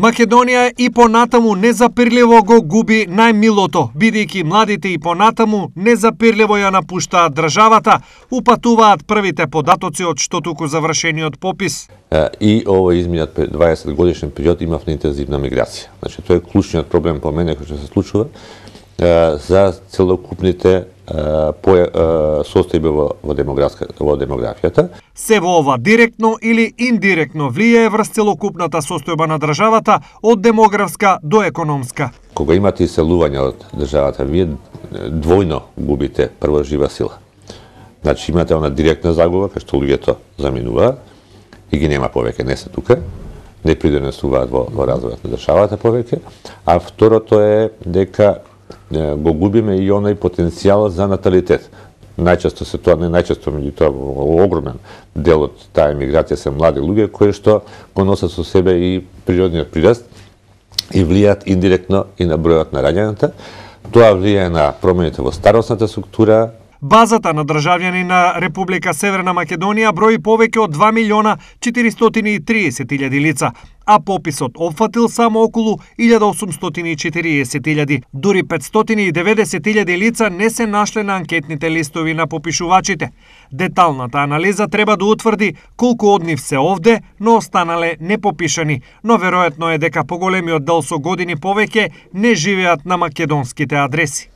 Македонија и понатаму незапирливо го губи најмилото, бидејќи младите и понатаму незапирливо ја напуштаат државата, упатуваат првите податоци од што туку завршениот попис. И овој изминат 20 годишен период имав интензивна миграција. Значи, тоа е клучниот проблем по мене кој што се случува за целокупните состојби во демографијата. Се во ова директно или индиректно влијае врз целокупната состојба на државата од демографска до економска. Кога имате иселување од државата, вие двојно губите прво жива сила. Значи имате она директна загуба, кај што луѓето заминуваат и ги нема повеќе, не се тука, не придонесуваат во развојот на државата повеќе, а второто е дека го губиме и оној потенцијал за наталитет. Најчесто се тоа, не најчесто, меѓутоа огромен дел од таа емиграција се млади луѓе кои што го носат со себе и природниот прираст и влијаат индиректно и на бројот на раѓањата. Тоа влијае на промените во старосната структура. Базата на државјани на Република Северна Македонија брои повеќе од 2.430.000 лица, а пописот опфатил само околу 1.840.000. Дури 590.000 лица не се нашле на анкетните листови на попишувачите. Деталната анализа треба да утврди колку од нив се овде, но останале непопишани, но веројатно е дека поголемиот дел со години повеќе не живеат на македонските адреси.